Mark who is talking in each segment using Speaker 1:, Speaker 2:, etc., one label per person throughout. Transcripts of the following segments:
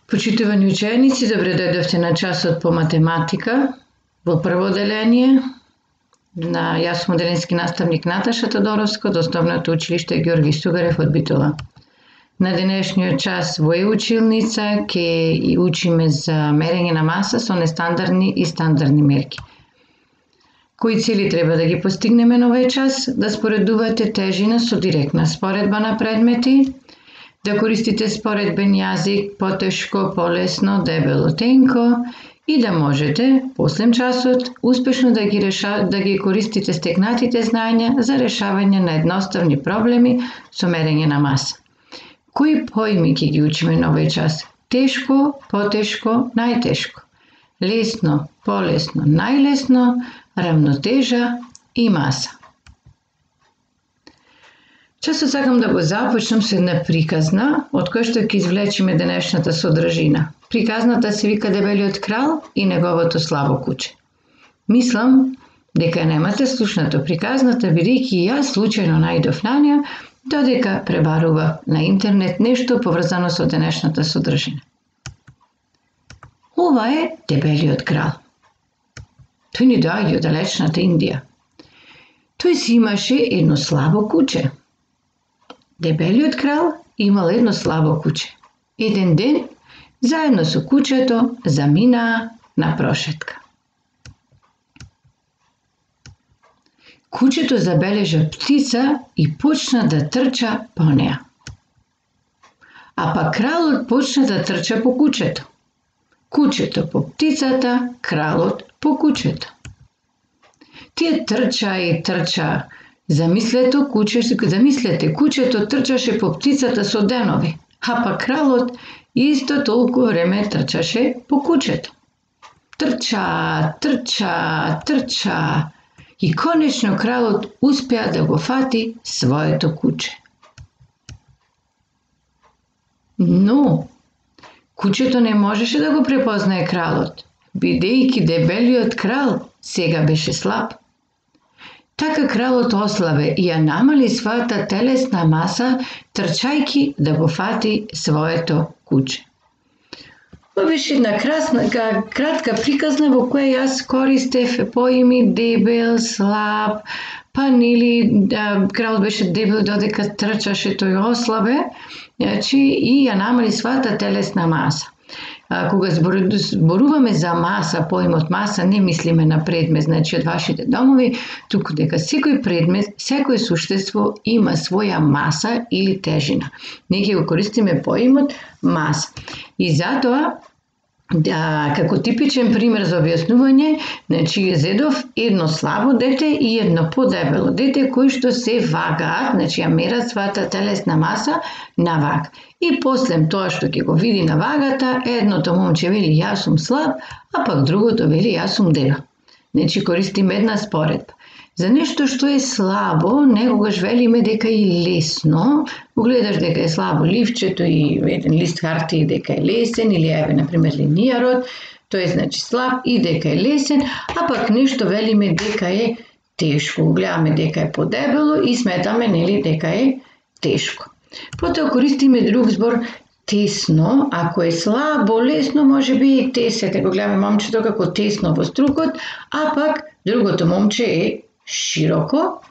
Speaker 1: Почитувани ученици, добре дојдовте на часот по математика во прво деление. Јас сум деленски наставник Наташа Тодоровска од Основното училиште Георги Стугарев од Битола. На денешниот час во училница ќе учиме за мерење на маса со нестандардни и стандардни мерки. Кои цели треба да ги постигнеме на овој час? Да споредувате тежина со директна споредба на предмети, да користите споредбен јазик, потешко, полесно, дебело, тенко и да можете, после часот, успешно да ги користите стекнатите знаења за решавање на едноставни проблеми со мерење на маса. Кои поими ќе ги учиме на овој час? Тешко, потешко, најтешко. Лесно, полесно, најлесно, рамнотежа и маса. Часот сакам да го започнам со една приказна, од која што ќе извлечеме денешната содржина. Приказната се вика Дебелиот крал и неговото слабо куче. Мислам дека немате слушнато приказната, бидејќи јас случајно најдов на неа, додека пребарував на интернет нешто поврзано со денешната содржина. Ова е Дебелиот крал. Тој ни доаѓа од далечната Индија. Тој си имаше едно слабо куче. Дебелиот крал имал едно слабо куче. Еден ден, заедно со кучето, заминаа на прошетка. Кучето забележа птица и почна да трча по неа. А па кралот почна да трча по кучето. Кучето по птицата, кралот по кучето. Тие трча и трча. Замислете, кучето трчаше по птицата со денови, а па кралот исто толку време трчаше по кучето. Трча, трча, трча и конечно кралот успеа да го фати своето куче. Но кучето не можеше да го препознае кралот, бидејќи Дебелиот крал сега беше слаб. Така кралот ослабе и ја намали својата телесна маса, трчајки да го фати своето куче. Ова беше една кратка приказна во која јас користев поими дебел, слаб, па нели кралот беше дебел додека трчаше, тој ослабе, и ја намали својата телесна маса. Кога зборуваме за маса, поимот маса, не мислиме на предмет, значи од вашите домови, туку дека секој предмет, секој суштество има своја маса или тежина. Ние ќе го користиме поимот маса. И затоа, како типичен пример за објаснување, значи зедов едно слабо дете и едно подебело дете кои што се вагаат, значи ја мерат својата телесна маса на ваг. И после тоа што ќе го види на вагата, едното момче вели јас сум слаб, а пак другото вели јас сум дебел. Значи користиме една споредба. За нешто што е слабо, некогаш велиме дека е лесно. Гледаш дека е слабо ливчето и еден лист хартија дека е лесен, или еве, например, линијарот, тој е значи слаб и дека е лесен, а пак нешто велиме дека е тешко. Гледаме дека е подебело и сметаме нели дека е тешко. Потоа користиме друг збор тесно, ако е слабо, лесно, може би и тесете. Го гледаме момчето како тесно во струкот, а пак другото момче е широко,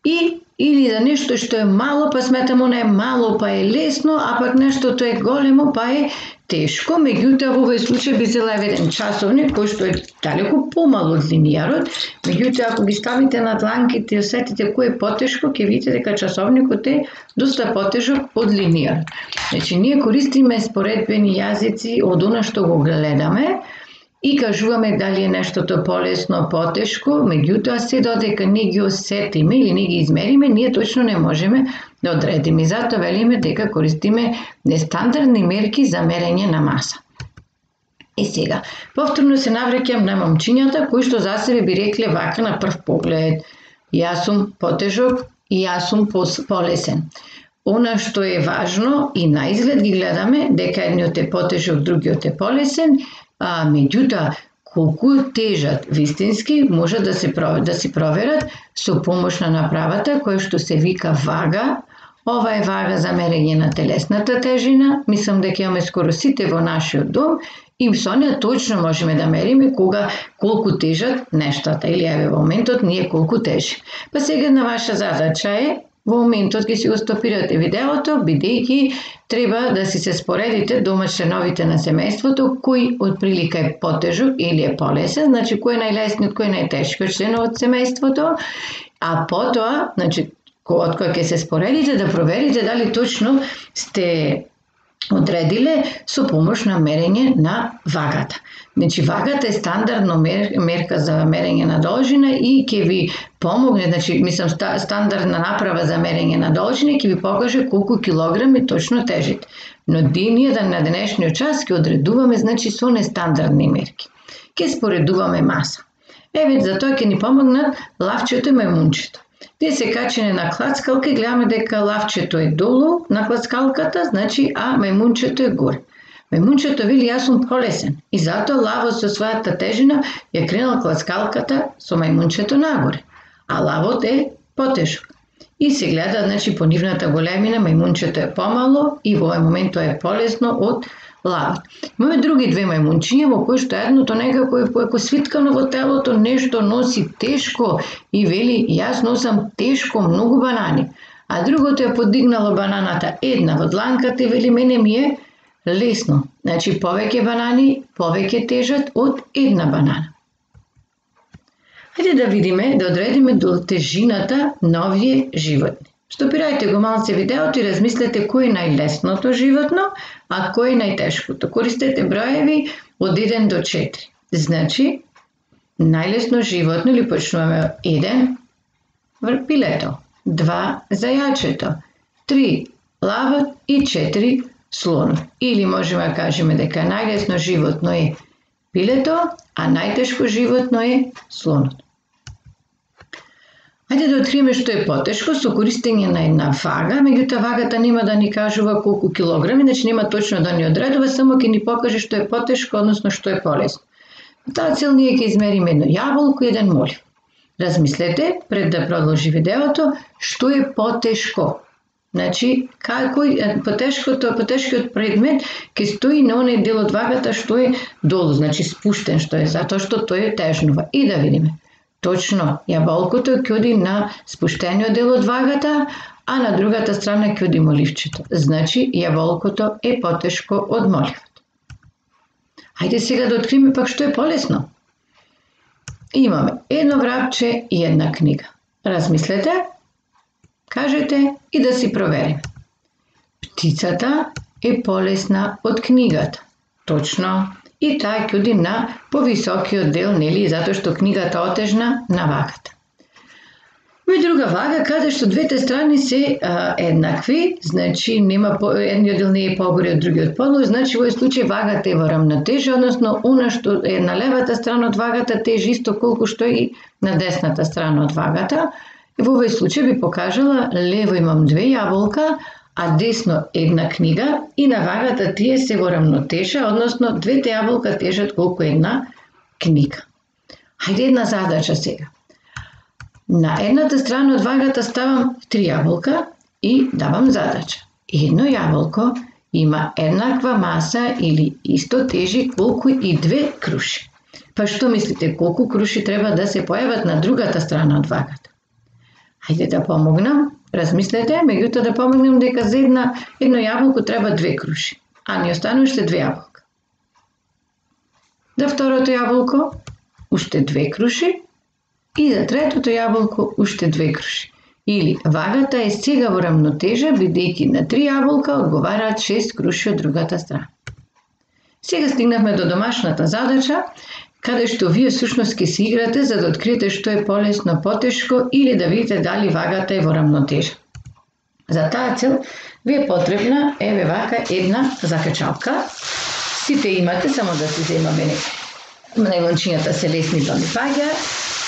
Speaker 1: или за нешто што е мало, па сметамо не е мало, па е лесно, а пак нештото е големо, па е тешко. Меѓутоа, во овој случај би зела еден часовник, кој што е далеку помал од линијарот. Меѓутоа, ако ги ставите на дланките и осетите кој е потешко, ќе видите дека часовникот е доста потежок од линијарот. Значи, ние користиме споредбени јазици од она што го гледаме, и кажуваме дали е нештото полесно, потешко, меѓутоа се додека не ги осетиме или не ги измериме, ние точно не можеме да одредиме. И затоа велиме дека користиме нестандардни мерки за мерење на маса. И сега, повторно се навраќам на момчињата кои што за себе би рекле вака на прв поглед: јас сум потежок и јас сум полесен. Она што е важно и на изглед ги гледаме дека едниот е потежок, другиот е полесен, меѓутоа, колку тежат вистински може да се проверат со помош на направата која што се вика вага, Ова е вага за мерење на телесната тежина. Мислам дека имаме скоро сите во нашиот дом и со неа точно можеме да мериме колку тежат нештата или еве во моментот ние колку тежи. Па сега на ваша задача е во моментот ќе си го стопирате видеото, бидејќи треба да си се споредите дома членовите на семејството кој од прилика е потежок или е полесен, значи кој е најлесниот, кој е најтешкиот член од семејството, а потоа, значи од кој ќе се споредите да проверите дали точно сте одредиле со помош на мерење на вагата. Значи вагата е стандардно мерка за мерење на должина и ќе ви помогне, значи мислам стандардна направа за мерење на должина ќе ви покаже колку килограми точно тежите. Но ние на денешниот час ќе одредуваме значи со нестандардни мерки. Ќе споредуваме маса. Еве за тоа ќе ни помогнат лавчето и мајмунчето. Те се качени на клацкалка и гледаме дека лавчето е долу на клацкалката, значи а мајмунчето е горе. Мајмунчето вели јас сум полесен и затоа лавот со својата тежина ја кренал клацкалката со мајмунчето нагоре, а лавот е потежок. И се гледа значи по нивната големина, мајмунчето е помало и во овој момент тоа е полесно од лавот. Имаме други две мајмунчиња во кои што едното некако е свиткано во телото, нешто носи тешко и вели јас носам тешко многу банани, а другото е подигнало бананата една во дланката и вели мене ми е лесно. Значи повеќе банани, повеќе тежат од една банана. Хајде да видиме, да одредиме до тежината на овие животни. Стопирајте го малце видеото и размислете кој е најлесното животно, а кој е најтешкото. Користете броеви од 1 до 4. Значи, најлесно животно или почнуваме 1 пилето, 2 зајачето, 3 лавот и 4 слонот. Или можеме да кажеме дека најлесно животно е пилето, а најтешко животно е слонот. Хајде да откриеме што е потешко со користење на една вага, меѓутоа вагата нема да ни кажува колку килограми, значи нема точно да ни одредува, само ќе ни покаже што е потешко, односно што е полесно. За таа цел ние ќе измериме едно јаболко и еден молив. Размислете пред да продолжи видеото што е потешко. Значи, потешкиот предмет ќе стои на оној дел од вагата што е долу, значи спуштен што е, затоа што тој тежнува. И да видиме. Точно, јаболкото ќе оди на спуштениот дел од вагата, а на другата страна ќе оди моливчето. Значи, јаболкото е потешко од моливот. Хајде сега да откриеме пак што е полесно. Имаме едно врапче и една книга. Размислете, кажете и да си провериме. Птицата е полесна од книгата. Точно. И таа ќе оди на повисокиот дел, нели, затоа што книгата отежна на вагата. Има друга вага каде што двете страни се еднакви, значи едниот дел не е погоре од другиот подолу, значи во овој случај вагата е во рамнотежа, односно она што е на левата страна од вагата тежи исто колку што и на десната страна од вагата. И во овој случај би покажала лево имам 2 јаболка, а десно една книга и на вагата тие се во рамнотежа, односно двете јаболка тежат колку една книга. Хајде една задача сега. На едната страна од вагата ставам 3 јаболка и давам задача. Едно јаболко има еднаква маса или исто тежи колку и 2 круши. Па што мислите, колку круши треба да се појават на другата страна од вагата? Хајде да помогнам. Размислете, меѓутоа да помогнем дека за едно јаболко треба 2 круши, а ни останува уште 2 јаболка. За второто јаболко уште 2 круши и за третото јаболко уште 2 круши. Или вагата е сега во рамнотежа, бидејќи на 3 јаболка одговараат 6 круши од другата страна. Сега стигнавме до домашната задача, каде што вие всушност ќе се играте за да откриете што е полесно, потешко или да видите дали вагата е во рамнотежа. За таа цел ви е потребна еве вака една закачалка. Сите имате, само да се земаме најлончињата се лесни да ми паѓаат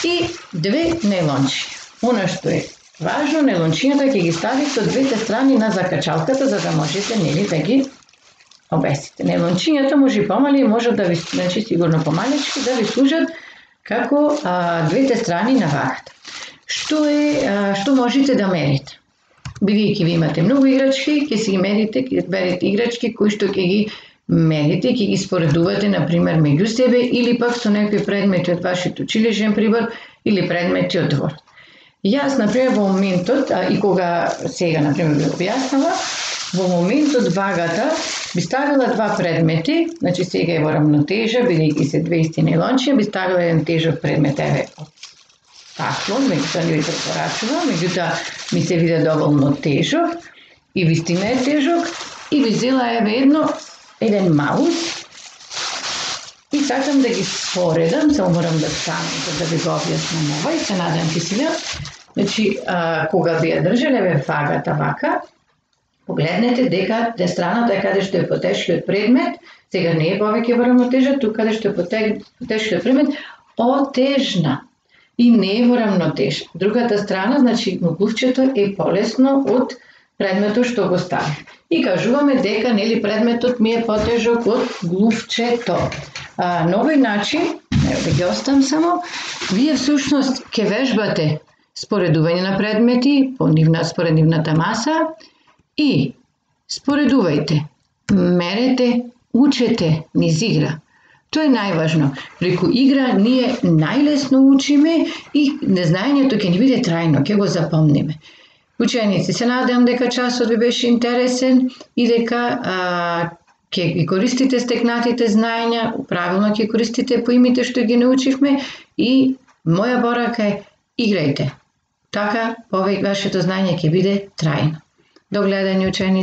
Speaker 1: и 2 најлончиња. Она што е важно, најлончињата ќе ги ставите од двете страни на закачалката за да можете нели да ги обесите. Најлончињата може и помали, може да ви, значи сигурно помалечки, да ви служат како двете страни на вагата. Што можете да мерите? бидејќи ви имате многу играчки, ќе си ги мерите, ќе берете играчки кои што ќе ги мерите, ќе ги споредувате, например, меѓу себе или пак со некои предмети од вашето училишен прибор или предмети од двор. Јас, например, во моментот, и кога сега, например, ви објаснава, во моментот вагата би ставила два предмети, значи сега е во рамнотежа, бидејќи се две исти нейлончиња, би ставила еден тежок предмет, еве, тако, меѓутоа не ви препорачувам, меѓутоа ми се виде доволно тежок и вистина е тежок и би взела еве еден маус и сакам да ги споредам, само морам да станам за да ви го објаснам ова и се надам ќе си значи, кога би ја држале еве вагата вака, погледнете дека страната каде што е потешкиот предмет, сега не е повеќе во рамнотежа, тука каде што е потешкиот предмет, отежна и не е во рамнотежа. Другата страна, значи глувчето е полесно од предметот што го ставив. И кажуваме дека нели предметот ми е потежок од глувчето. На овој начин, да ги оставам само, вие всушност ќе вежбате споредување на предмети по според нивната маса и споредувајте, мерете, учете низ игра. Тоа е најважно. Преку игра ние најлесно учиме и незнаењето ќе ни биде трајно, ќе го запомниме. Ученици, се надевам дека часот ви беше интересен и дека ќе ги користите стекнатите знаења, правилно ќе користите поимите што ги научивме и моја порака е играјте. Така, вашето знаење ќе биде трајно. До гледање, ученици.